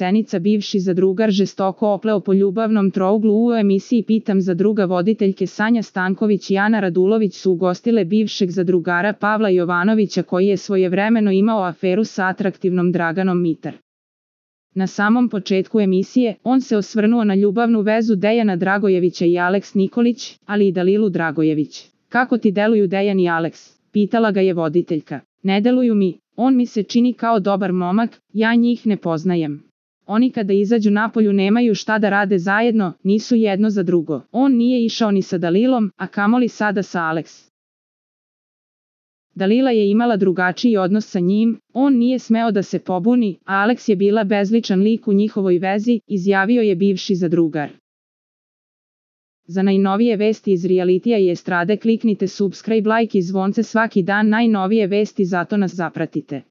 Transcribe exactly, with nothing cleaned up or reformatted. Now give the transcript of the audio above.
scenica bivši zadrugar žestoko opleo po ljubavnom trouglu u emisiji Pitam zadruga. Voditeljke Sanja Stanković i Ana Radulović su ugostile bivšeg zadrugara Pavla Jovanovića koji je svojevremeno imao aferu sa atraktivnom Draganom Mitar. Na samom početku emisije, on se osvrnuo na ljubavnu vezu Dejana Dragojevića i Aleks Nikolić, ali i Dalilu Dragojević. Kako ti deluju Dejan i Aleks? Pitala ga je voditeljka. Ne deluju mi, on mi se čini kao dobar momak, ja njih ne poznajem. Oni kada izađu napolju nemaju šta da rade zajedno, nisu jedno za drugo. On nije išao ni sa Dalilom, a kamoli sada sa Aleks. Dalila je imala drugačiji odnos sa njim, on nije smeo da se pobuni, a Aleks je bila bezličan lik u njihovoj vezi, izjavio je bivši zadrugar. Za najnovije vesti iz realitija i estrade kliknite subscribe, like i zvonce svaki dan. Najnovije vesti, zato nas zapratite.